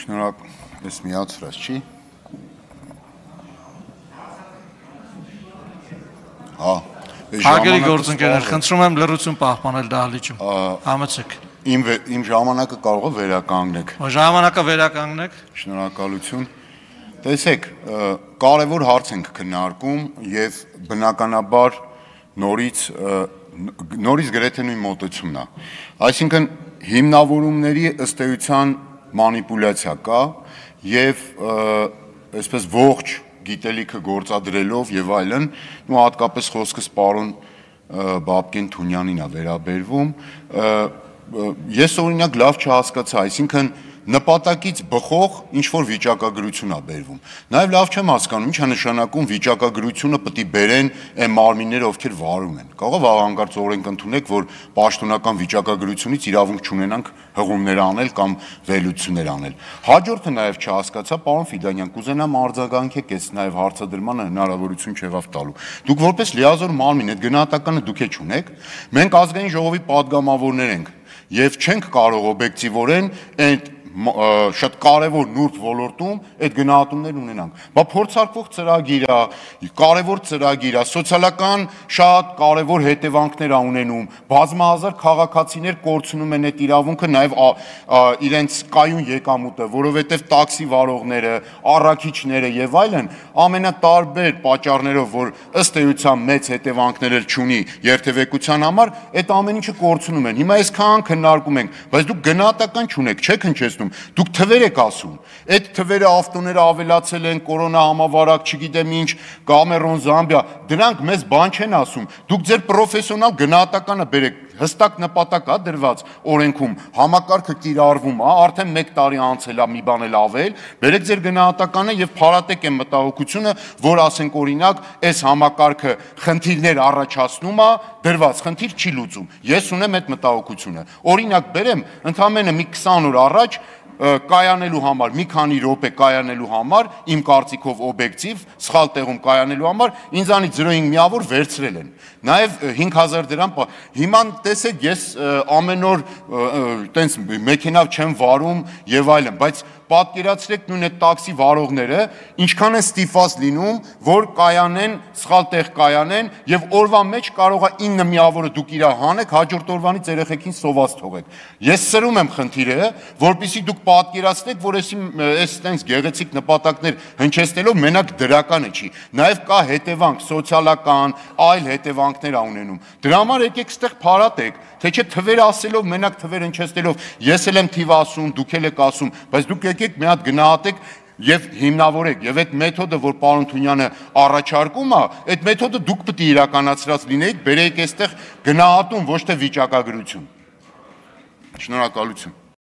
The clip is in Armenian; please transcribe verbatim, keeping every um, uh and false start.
Շնորհակալ, ես միացրած չի։ Հա, Հարգելի գործընկերներ, խնդրում եմ լռություն պահպանել դահլիճում։ Համեցեք։ Իմ ժամանակը կարող է վերականգնեք։ Ժամանակը վերականգնեք։ Շնորհակալություն։ Տեսեք, կարևոր հարց ենք քննարկում եւ բնականաբար նորից նորից գրեթե նույն մոտեցումն է։ Այսինքն հիմնավորումների ըստ էության մանիպուլյացիա կա եւ այսպես ողջ գիտելիքը գործադրելով եւ այլն, ու հատկապես խոսքս պարոն Բաբկեն Թունյանին է վերաբերվում, ես օրինակ լավ չհասկացա, այսինքն նպատակից բխող ինչ-որ վիճակագրություն է բերվում։ Նաև լավ չեմ հասկանում, ինչ է նշանակում վիճակագրությունը պետք է բերեն այն մարմինները, ովքեր վարում են։ Կարող է վաղանկարծ օրենք ընդունեք, որ պաշտոնական վիճակագրությունից իրավունք չունենանք հղումներ անել կամ վերլուծություններ անել։ Հաջորդը նաև չհասկացա, պարոն Ֆիդանյան, կուզենամ արձագանքեք այս նաև հարցադրմանը հնարավորություն չեղավ տալու։ Դուք որպես լիազոր մարմին այդ գնահատականը դուք է չունեք։ Մենք ազգային ժողովի падգամավորներ ենք եւ չենք կարող օբյեկտիվորեն այդ շատ կարևոր նուրբ ոլորտում այդ գնահատումներ ունենանք։ Բա փորձարկվող ծրագիր է, կարևոր ծրագիր է, սոցիալական շատ կարևոր հետևանքներ է ունենում, բազմահազար քաղաքացիներ կորցնում են այդ իրավունքը, նաև իրենց կայուն եկամուտը, որովհետև տաքսի վարողները, առաքիչները եւ այլն ամենատարբեր պատճառներով, որ ըստ էության մեծ հետևանքներ չունի երթևեկության համար, այդ ամեն ինչը կորցնում են։ Հիմա այսքան քննարկում ենք, բայց դուք գնահատական չունեք, չեք հնչեցնում։ Դուք թվեր եք ասում, այդ թվերը ավտոները ավելացել են, կորոնա համավարակ, չգիտեմ ինչ, Կամերոն, Զամբիա, դրանք մեզ բան չեն ասում։ Դուք ձեր պրոֆեսիոնալ գնահատականը բերեք, հստակ նպատակ է դրված օրենքում, համակարգը կիրառվում է, արդեն մեկ տարի անցել է, մի բան էլ ավել, բերեք ձեր գնահատականը եւ փարատեք այն մտահոգությունը, որ ասենք օրինակ, այս համակարգը խնդիրներ առաջացնում է, դրված խնդիր չի լուծում։ Ես ունեմ այդ մտահոգությունը։ Օրինակ բերեմ, ընդամենը մի քսան օր առաջ կայանելու համար, մի քանի րոպե կայանելու համար, իմ կարծիքով օբյեկտիվ, սխալ տեղում կայանելու համար, ինձանից զրո հինգ միավոր վերցրել են։ Նաև հինգ հազար դրամ, հիմա տեսեք, ես ամեն օր տենց մեքենավ չեմ վարում եւ այլն, բայց պատկերացրեք նույն այդ տաքսի վարողները ինչքան են ստիպված լինում, որ կայանեն, սխալ տեղ կայանեն եւ օրվա մեջ կարող է ինը միավորը դուք իրար հանեք, հաջորդ օրվանից երեխեքին սոված թողեք։ Ես սրում եմ խնդիրը, որպեսզի դուք պատկերացնեք, որ էսի այս տենց գեղեցիկ նպատակներ հնչեցնելով մենակ դրականը չի, նաեւ կա հետևանք սոցիալական, այլ հետևանքներ ա ունենում։ Դրա համար եկեք ստեղ փարատեք, թե չէ թվեր ասելով, մենակ թվեր հնչեցնելով, ես էլ եմ թիվ ասում, դուք էլ եք ասում, բայց դուք եկեք մի հատ գնահատեք եւ հիմնավորեք, եւ այդ մեթոդը, որ պարոն Թունյանը առաջարկում է, այդ մեթոդը դուք պետք է իրականացրած լինեիք, բերեիք այստեղ գնահատում, ոչ թե վիճակագրություն։ Շնորհակալություն։